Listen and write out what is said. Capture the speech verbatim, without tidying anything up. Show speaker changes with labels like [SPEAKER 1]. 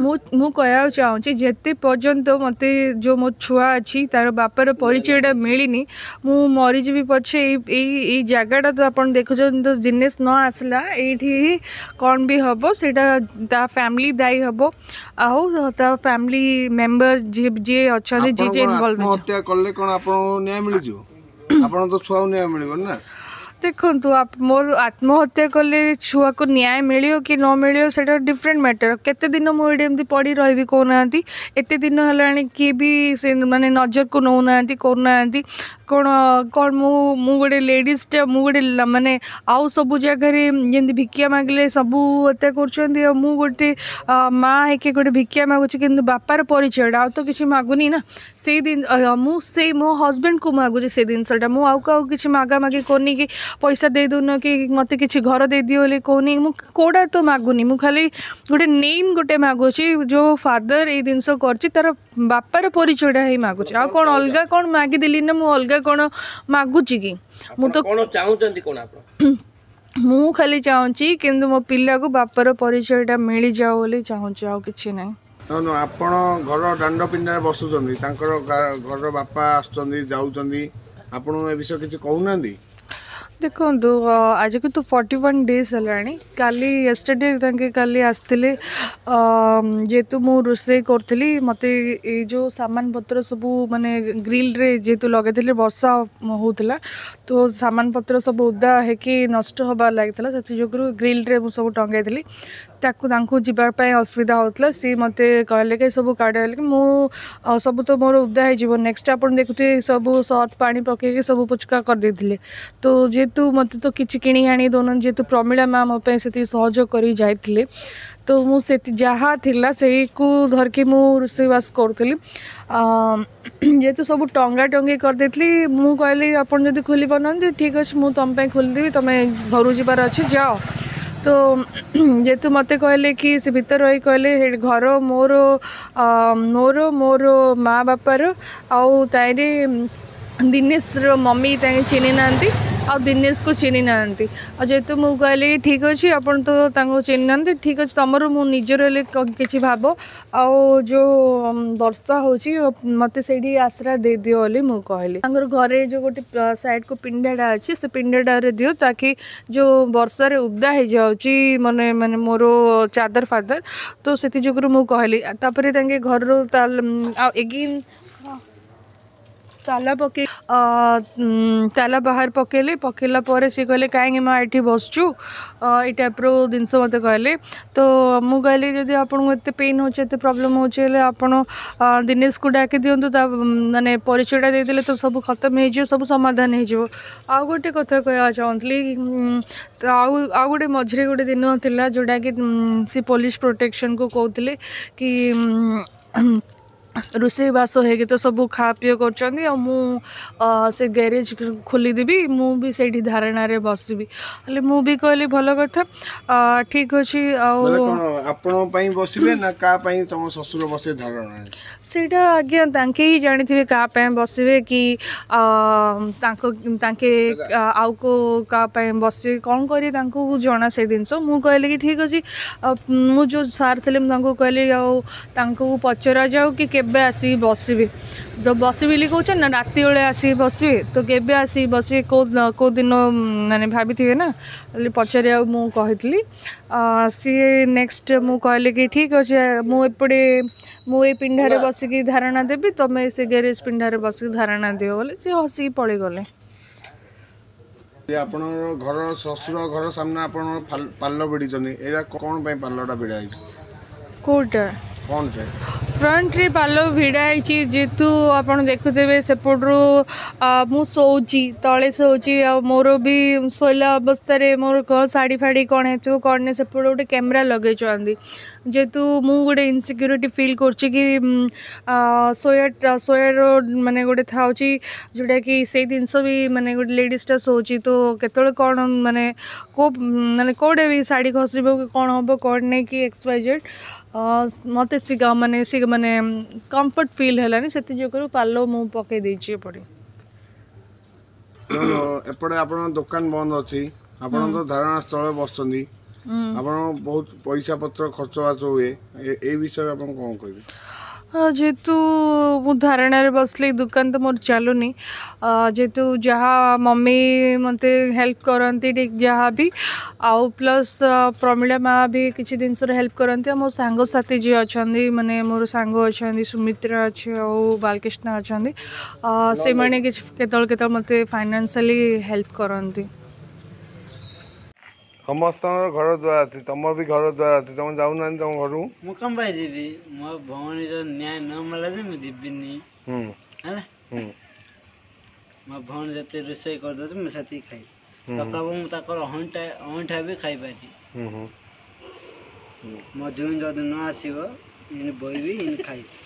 [SPEAKER 1] ମୁଁ ମୁଁ କହିବାକୁ ଚାହୁଁଛି, ଯେତେ ପର୍ଯ୍ୟନ୍ତ ମୋତେ ଯେଉଁ ମୋ ଛୁଆ ଅଛି ତାର ବାପାର ପରିଚୟଟା ମିଳିନି, ମୁଁ ମରିଯିବି ପଛେ। ଏଇ ଏଇ ଏଇ ଜାଗାଟା ତ ଆପଣ ଦେଖୁଛନ୍ତି ତ, ଦିନେଶ ନ ଆସିଲା ଏଇଠି କ'ଣ ବି ହେବ ସେଇଟା ତା ଫ୍ୟାମିଲି ଦାୟୀ ହେବ, ଆଉ ତା ଫ୍ୟାମିଲି ମେମ୍ବର ଯିଏ ଯିଏ ଅଛନ୍ତି, ଯିଏ ଯିଏ ଇନଭଲ୍ଭ।
[SPEAKER 2] ଆତ୍ମହତ୍ୟା କଲେ କ'ଣ ଆପଣଙ୍କୁ ନ୍ୟାୟ ମିଳିଯିବ? ଆପଣ ତ ଛୁଆକୁ ନ୍ୟାୟ ମିଳିବନି ନା।
[SPEAKER 1] ଦେଖନ୍ତୁ, ମୋର ଆତ୍ମହତ୍ୟା କଲେ ଛୁଆକୁ ନ୍ୟାୟ ମିଳିବ କି ନ ମିଳିବ ସେଇଟା ଡିଫରେଣ୍ଟ ମ୍ୟାଟର୍। କେତେ ଦିନ ମୁଁ ଏଇଠି ଏମିତି ପଡ଼ି ରହିବି କହୁନାହାନ୍ତି? ଏତେ ଦିନ ହେଲାଣି, କିଏ ବି ସେ ମାନେ ନଜରକୁ ନେଉନାହାନ୍ତି, କରୁନାହାନ୍ତି। କ'ଣ କ'ଣ ମୁଁ ମୁଁ ଗୋଟେ ଲେଡ଼ିଜ୍ଟା, ମୁଁ ଗୋଟେ ମାନେ ଆଉ ସବୁ ଜାଗାରେ ଯେମିତି ଭିକ୍ଷା ମାଗିଲେ ସବୁ ଏତେ କରୁଛନ୍ତି, ଆଉ ମୁଁ ଗୋଟେ ମା ହେଇକି ଗୋଟେ ଭିକ୍ଷା ମାଗୁଛି, କିନ୍ତୁ ବାପାର ପରିଚୟଟା, ଆଉ ତ କିଛି ମାଗୁନି ନା। ସେଇ ଦିନ ମୁଁ ସେଇ ମୋ ହଜବେଣ୍ଡକୁ ମାଗୁଛି ସେଇ ଜିନିଷଟା। ମୁଁ ଆଉ କାହାକୁ କିଛି ମାଗାମାଗି କରୁନି କି ପଇସା ଦେଇଦେଉନ କି ମୋତେ କିଛି ଘର ଦେଇଦିଅ ବୋଲି କହୁନି। ମୁଁ କେଉଁଟା ତ ମାଗୁନି, ମୁଁ ଖାଲି ଗୋଟେ ନେମ୍ ଗୋଟେ ମାଗୁଛି। ଯେଉଁ ଫାଦର ଏଇ ଜିନିଷ କରିଛି ତାର ବାପାର ପରିଚୟଟା ହିଁ ମାଗୁଛି। ଆଉ କ'ଣ ଅଲଗା କ'ଣ ମାଗିଦେଲି ନା ମୁଁ ଅଲଗା କ'ଣ ମାଗୁଛି କି? ମୁଁ ତ
[SPEAKER 3] କ'ଣ ଚାହୁଁଛନ୍ତି କ'ଣ ଆପଣ?
[SPEAKER 1] ମୁଁ ଖାଲି ଚାହୁଁଛି କିନ୍ତୁ ମୋ ପିଲାକୁ ବାପାର ପରିଚୟଟା ମିଳିଯାଉ ବୋଲି ଚାହୁଁଛି, ଆଉ କିଛି ନାହିଁ।
[SPEAKER 2] ଆପଣ ଘର ଦାଣ୍ଡ ପିଣ୍ଡାରେ ବସୁଛନ୍ତି, ତାଙ୍କର ଘରର ବାପା ଆସୁଛନ୍ତି ଯାଉଛନ୍ତି, ଆପଣ ଏ ବିଷୟ କିଛି କହୁନାହାନ୍ତି?
[SPEAKER 1] ଦେଖନ୍ତୁ, ଆଜିକୁ ତ ଫର୍ଟି ୱାନ୍ ଡେଜ୍ ହେଲାଣି। କାଲି ୟେଷ୍ଟରଡେ ତାଙ୍କେ କାଲି ଆସିଥିଲେ। ଯେହେତୁ ମୁଁ ରୋଷେଇ କରୁଥିଲି, ମୋତେ ଏଇ ଯେଉଁ ସାମାନ ପତ୍ର ସବୁ ମାନେ ଗ୍ରିଲ୍ରେ ଯେହେତୁ ଲଗାଇଥିଲି, ବର୍ଷା ହେଉଥିଲା ତ ସାମାନ ପତ୍ର ସବୁ ଓଦା ହେଇକି ନଷ୍ଟ ହେବାର ଲାଗିଥିଲା। ସେଥି ଯୋଗୁରୁ ଗ୍ରିଲ୍ରେ ମୁଁ ସବୁ ଟଙ୍ଗାଇଥିଲି। ତାକୁ ତାଙ୍କୁ ଯିବା ପାଇଁ ଅସୁବିଧା ହେଉଥିଲା। ସିଏ ମୋତେ କହିଲେ କି ସବୁ କାଢ଼ କି ମୁଁ ସବୁ ତ ମୋର ଓଦା ହେଇଯିବ। ନେକ୍ସଟ ଆପଣ ଦେଖୁଥିବେ, ସବୁ ସର୍ଫ ପାଣି ପକାଇକି ସବୁ ପୁଚକା କରିଦେଇଥିଲେ। ତ ଯେହେତୁ ମୋତେ ତ କିଛି କିଣି ଆଣି ଦେଉନାହାନ୍ତି, ଯେହେତୁ ପ୍ରମିଳା ମା ମୋ ପାଇଁ ସେତିକି ସହଯୋଗ କରିକି ଯାଇଥିଲେ, ତ ମୁଁ ସେତି ଯାହା ଥିଲା ସେଇକୁ ଧରିକି ମୁଁ ରୋଷେଇବାସ କରୁଥିଲି। ଯେହେତୁ ସବୁ ଟଙ୍ଗା ଟଙ୍ଗି କରିଦେଇଥିଲି, ମୁଁ କହିଲି ଆପଣ ଯଦି ଖୋଲି ପାରୁନାହାନ୍ତି, ଠିକ୍ ଅଛି, ମୁଁ ତୁମ ପାଇଁ ଖୋଲିଦେବି, ତୁମେ ଘରକୁ ଯିବାର ଅଛି ଯାଅ। ତ ଯେହେତୁ ମୋତେ କହିଲେ କି ସେ ଭିତରେ ରହି କହିଲେ ଘର ମୋର, ମୋର ମୋର ମା ବାପାର, ଆଉ ତାହିଁରେ ଦିନେଶର ମମି ତାଙ୍କେ ଚିହ୍ନି ନାହାନ୍ତି ଆଉ ଦିନେଶକୁ ଚିହ୍ନି ନାହାନ୍ତି। ଆଉ ଯେହେତୁ ମୁଁ କହିଲି ଠିକ୍ ଅଛି, ଆପଣ ତ ତାଙ୍କୁ ଚିହ୍ନି ନାହାନ୍ତି, ଠିକ୍ ଅଛି, ତୁମର ମୁଁ ନିଜର ହେଲେ କିଛି ଭାବ, ଆଉ ଯେଉଁ ବର୍ଷା ହେଉଛି ମୋତେ ସେଇଠି ଆଶ୍ରା ଦେଇଦିଅ ବୋଲି ମୁଁ କହିଲି। ତାଙ୍କର ଘରେ ଯେଉଁ ଗୋଟେ ସାଇଡ଼କୁ ପିଣ୍ଡାଟା ଅଛି, ସେ ପିଣ୍ଡାଟାରେ ଦିଅ, ତାକି ଯେଉଁ ବର୍ଷାରେ ଓଦା ହେଇଯାଉଛି ମାନେ ମାନେ ମୋର ଚାଦର ଫାଦର, ତ ସେଥି ଯୋଗୁରୁ ମୁଁ କହିଲି। ତାପରେ ତାଙ୍କେ ଘରରୁ ଆଉ ଏଗେନ୍ ତାଲା ପକେଇ ତାଲା ବାହାର ପକେଇଲେ। ପକେଇଲା ପରେ ସିଏ କହିଲେ କାହିଁକି ମା ଏଠି ବସୁଛୁ, ଏଇ ଟାଇପ୍ର ଜିନିଷ ମୋତେ କହିଲେ। ତ ମୁଁ କହିଲି ଯଦି ଆପଣଙ୍କୁ ଏତେ ପେନ୍ ହେଉଛି, ଏତେ ପ୍ରୋବ୍ଲେମ୍ ହେଉଛି, ହେଲେ ଆପଣ ଦିନେଶକୁ ଡାକି ଦିଅନ୍ତୁ, ତା ମାନେ ପରିଚୟଟା ଦେଇଦେଲେ ତ ସବୁ ଖତମ ହେଇଯିବ, ସବୁ ସମାଧାନ ହେଇଯିବ। ଆଉ ଗୋଟେ କଥା କହିବାକୁ ଚାହୁଁଥିଲି। ତ ଆଉ ଆଉ ଗୋଟେ ମଝିରେ ଗୋଟେ ଦିନ ଥିଲା ଯେଉଁଟାକି ସେ ପୋଲିସ ପ୍ରୋଟେକ୍ସନକୁ କହୁଥିଲେ କି ରୋଷେଇବାସ ହେଇକି ତ ସବୁ ଖା ପିଅ କରୁଛନ୍ତି, ଆଉ ମୁଁ ସେ ଗ୍ୟାରେଜ୍ ଖୋଲିଦେବି, ମୁଁ ବି ସେଇଠି ଧାରଣାରେ ବସିବି। ହେଲେ ମୁଁ ବି କହିଲି ଭଲ କଥା, ଠିକ୍ ଅଛି। ଆଉ
[SPEAKER 2] ଆପଣଙ୍କ ପାଇଁ ବସିବେ ନା କାହା ପାଇଁ ତମ ଶ୍ୱଶୁର ବସିବେ ଧାରଣାରେ?
[SPEAKER 1] ସେଇଟା ଆଜ୍ଞା ତାଙ୍କେ ହିଁ ଜାଣିଥିବେ କାହା ପାଇଁ ବସିବେ, କି ତାଙ୍କ ତାଙ୍କେ ଆଉ କେଉଁ କାହା ପାଇଁ ବସିବେ, କ'ଣ କରିବେ ତାଙ୍କୁ ଜଣା ସେଇ ଜିନିଷ। ମୁଁ କହିଲି କି ଠିକ୍ ଅଛି। ମୁଁ ଯେଉଁ ସାର୍ ଥିଲେ ମୁଁ ତାଙ୍କୁ କହିଲି ଆଉ ତାଙ୍କୁ ପଚରାଯାଉ କି କେବେ ଆସିକି ବସିବେ। ତ ବସିବି ବୋଲି କହୁଛନ୍ତି ନା ରାତି ବେଳେ ଆସିକି ବସିବେ? ତ କେବେ ଆସିକି ବସିବେ, କେଉଁ କେଉଁ ଦିନ ମାନେ ଭାବିଥିବେ ନା ବୋଲି ପଚାରିବାକୁ ମୁଁ କହିଥିଲି। ସିଏ ନେକ୍ସଟ ମୁଁ କହିଲି କି ଠିକ୍ ଅଛି, ମୁଁ ଏପଟେ ମୁଁ ଏଇ ପିଣ୍ଡାରେ ବସିକି ଧାରଣା ଦେବି, ତୁମେ ସେ ଗ୍ୟାରେଜ୍ ପିଣ୍ଡାରେ ବସିକି ଧାରଣା ଦିଅ ବୋଲି ସିଏ ହସିକି ପଳେଇଗଲେ।
[SPEAKER 2] ଆପଣଙ୍କର ଘର ଶ୍ୱଶୁର ଘର ସାମ୍ନା ଆପଣ ପାଲ ଭିଡ଼ିଛନ୍ତି, ଏଇଟା କ'ଣ ପାଇଁ ପାଲଟା ଭିଡ଼ା ହେଇଛି?
[SPEAKER 1] କେଉଁଟା? ଫ୍ରଣ୍ଟରେ ପାଲ ଭିଡ଼ା ହେଇଛି, ଯେହେତୁ ଆପଣ ଦେଖୁଥିବେ ସେପଟରୁ ମୁଁ ଶୋଉଛି, ତଳେ ଶୋଉଛି, ଆଉ ମୋର ବି ଶୋଇଲା ଅବସ୍ଥାରେ ମୋର କ'ଣ ଶାଢ଼ୀ ଫାଢ଼ୀ କ'ଣ ହେଇଥିବ କ'ଣ ନାହିଁ, ସେପଟେ ଗୋଟେ କ୍ୟାମେରା ଲଗେଇଛନ୍ତି। ଯେହେତୁ ମୁଁ ଗୋଟେ ଇନସିକ୍ୟୁରିଟି ଫିଲ୍ କରୁଛି କି ଶୋଇବା ଶୋଇବାର ମାନେ ଗୋଟେ ଥାଉଛି ଯେଉଁଟାକି ସେଇ ଜିନିଷ ବି ମାନେ ଗୋଟେ ଲେଡ଼ିଜ୍ଟା ଶୋଉଛି ତ କେତେବେଳେ କ'ଣ ମାନେ କେଉଁ ମାନେ କେଉଁଟା ବି ଶାଢ଼ୀ ଖସିବ କି କ'ଣ ହେବ କ'ଣ ନାହିଁ କି ଏକ୍ସ ୱାଇ ଜେଡ଼୍, ମୋତେ ସେ ମାନେ ସେ ମାନେ କମ୍ଫର୍ଟ ଫିଲ୍ ହେଲାନି, ସେଥି ଯୋଗୁରୁ ପାଲ ମୁଁ ପକାଇ ଦେଇଛି ଏପଟେ।
[SPEAKER 2] ଏପଟେ ଆପଣଙ୍କ ଦୋକାନ ବନ୍ଦ ଅଛି, ଆପଣ ତ ଧାରଣା ସ୍ଥଳରେ ବସୁଛନ୍ତି, ଆପଣ ବହୁତ ପଇସା ପତ୍ର ଖର୍ଚ୍ଚ ବାର୍ଚ୍ଚ ହୁଏ, ଏ- ଏଇ ବିଷୟରେ ଆପଣ କ'ଣ କହିବେ?
[SPEAKER 1] ହଁ, ଯେହେତୁ ମୁଁ ଧାରଣାରେ ବସିଲି, ଦୋକାନ ତ ମୋର ଚାଲୁନି, ଅ, ଯେହେତୁ ଯାହା ମମି ମୋତେ ହେଲ୍ପ କରନ୍ତି ଠିକ୍ ଯାହା ବି, ଆଉ ପ୍ଲସ୍ ପ୍ରମିଳା ମା ବି କିଛି ଜିନିଷରେ ହେଲ୍ପ କରନ୍ତି। ଆଉ ମୋ ସାଙ୍ଗସାଥି ଯିଏ ଅଛନ୍ତି, ମାନେ ମୋର ସାଙ୍ଗ ଅଛନ୍ତି, ସୁମିତ୍ରା ଅଛି ଆଉ ବାଲକୃଷ୍ଣ ଅଛନ୍ତି, ଅ, ସେମାନେ କିଛି କେତେବେଳେ କେତେବେଳେ ମୋତେ ଫାଇନାନ୍ସିଆଲି ହେଲ୍ପ କରନ୍ତି।
[SPEAKER 2] ସମସ୍ତଙ୍କର ଘର ଦ୍ୱାର ଅଛି, ତମର ବି ଘର ଦ୍ୱାର ଅଛି, ତମେ ଯାଉନାହାନ୍ତି ତମ ଘରକୁ?
[SPEAKER 3] ମୁଁ କଣ ପାଇଁ ଯିବି? ମୋ ଭଉଣୀର ନ୍ୟାୟ ନ ମିଳିଲା ଯେ ମୁଁ ଯିବିନି।
[SPEAKER 2] ହୁଁ
[SPEAKER 3] ହେଲା।
[SPEAKER 2] ହୁଁ
[SPEAKER 3] ମୋ ଭଉଣୀ ଯେତେ ରୋଷେଇ କରିଦେଉଛି, ମୁଁ ସେତିକି ଖାଇବି।
[SPEAKER 2] ହୁଁ।
[SPEAKER 3] ତଥାପି ମୁଁ ତାଙ୍କର ଅଇଁଠା ଅଇଁଠା ବି ଖାଇପାରିବି।
[SPEAKER 2] ହୁଁ ହୁଁ ହୁଁ
[SPEAKER 3] ମୋ ଜୋଇଁ ଯଦି ନ ଆସିବ, ଏଇନି ବଇବି, ଏଇନି ଖାଇବି।